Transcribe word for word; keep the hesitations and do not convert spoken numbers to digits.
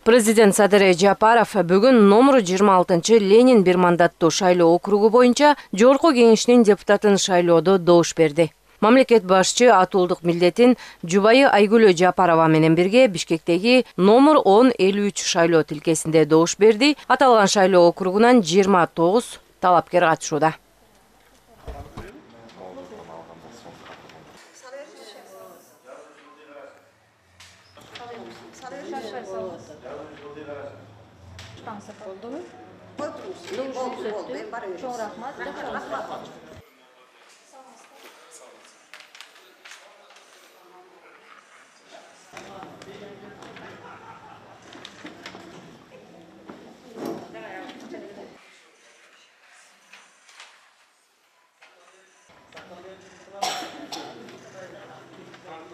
Президент Садыр Жапаров бүгүн номер жыйырма алтынчы Ленин бир мандаттуу шайлоо округу боюнча Жогорку Кеңештин депутатын шайлоодо добуш берди. Мамлекет башчы атуулдук милдетин жубайы Айгүлөө Жапарова менен бирге Бишкектеги номер он элүү үч шайлоо тилкесинде добуш берди. Аталган шайлоо округунан жыйырма тогуз талапкер катышууда. Çok rahmat.